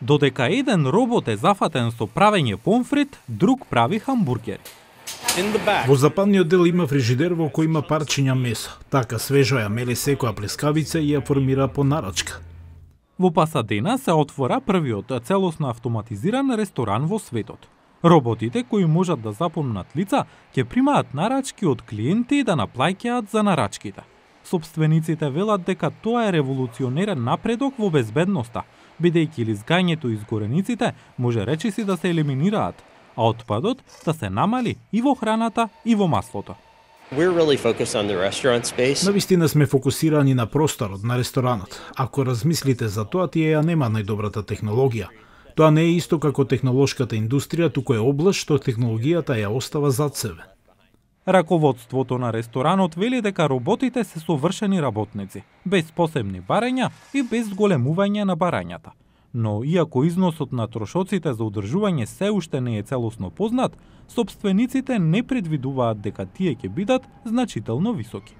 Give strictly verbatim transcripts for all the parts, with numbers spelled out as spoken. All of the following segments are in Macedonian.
Додека еден робот е зафатен со правење помфрит, друг прави хамбургери. Во западниот дел има фрижидер во кој има парчиња месо. Така свежо ја мели секоја плескавица и ја формира по нарачка. Во Пасадена се отвора првиот целосно автоматизиран ресторан во светот. Роботите кои можат да запомнат лица ќе примаат нарачки од клиенти и да наплаќаат за нарачките. Собствениците велат дека тоа е револуционерен напредок во безбедноста, бидејќи лизгањето и изгорениците може речиси да се елиминираат, а отпадот да се намали и во храната и во маслото. Навистина сме фокусирани на просторот на ресторанот. Ако размислите за тоа, тие ја нема најдобрата технологија. Тоа не е исто како технолошката индустрија, туку е област што технологијата ја остава зад себе. Раководството на ресторанот вели дека роботите се совршени работници, без посебни барања и без големување на барањата. Но иако износот на трошоците за одржување се уште не е целосно познат, собствениците не предвидуваат дека тие ќе бидат значително високи.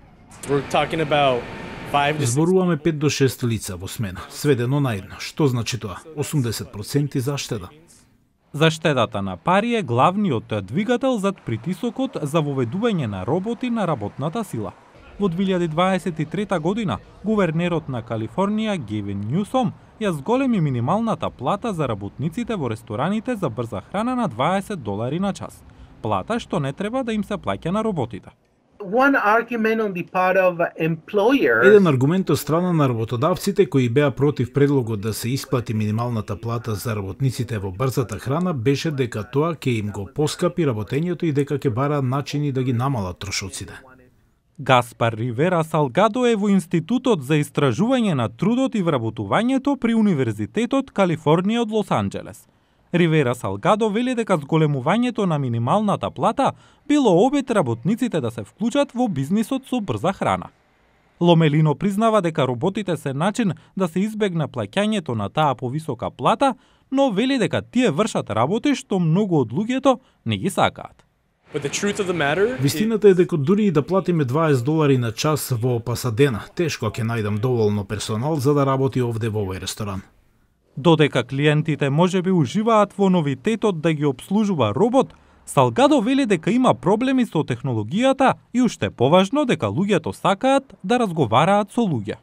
Зборуваме пет до шест лица во смена, сведено на едно. Што значи тоа? осумдесет проценти заштеда. Заштедата на пари е главниот двигател зад притисокот за воведување на роботи на работната сила. Во две илјади дваесет и трета година, гувернерот на Калифорнија Гевин Њусом ја зголеми минималната плата за работниците во рестораните за брза храна на дваесет долари на час. Плата што не треба да им се плаќа на роботите. Еден аргумент од страна на работодавците кои беа против предлогот да се исплати минималната плата за работниците во брзата храна беше дека тоа ќе им го поскапи работењето и дека ќе бараат начини да ги намалат трошоците. Гаспар Ривера Салгадо е во Институтот за истражување на трудот и вработувањето при Универзитетот Калифорнија од Лос Анџелес. Ривера Салгадо вели дека зголемувањето на минималната плата било обид работниците да се вклучат во бизнисот со брза храна. Ломелино признава дека роботите се начин да се избегне плаќањето на таа повисока плата, но вели дека тие вршат работи што многу од луѓето не ги сакаат. Вистината е дека дури и да платиме дваесет долари на час во Пасадена, тешко ќе најдам доволно персонал за да работи овде во овој ресторан. Додека клиентите можеби уживаат во новитетот да ги обслужува робот, Салгадо вели дека има проблеми со технологијата и уште поважно дека луѓето сакаат да разговараат со луѓе.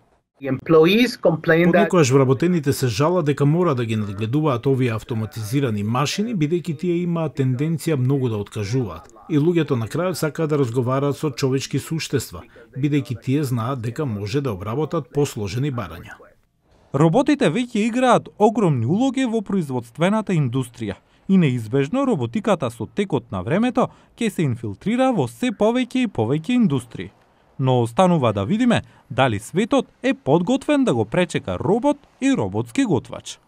Понекогаш вработените се жала дека мора да ги надгледуваат овие автоматизирани машини, бидејќи тие имаат тенденција многу да откажуваат. И луѓето на крајот сакаат да разговараат со човечки суштества, бидејќи тие знаат дека може да обработат посложени барања. Роботите веќе играат огромни улоги во производствената индустрија и неизбежно роботиката со текот на времето ќе се инфилтрира во се повеќе и повеќе индустрии. Но останува да видиме дали светот е подготвен да го пречека робот и роботски готвач.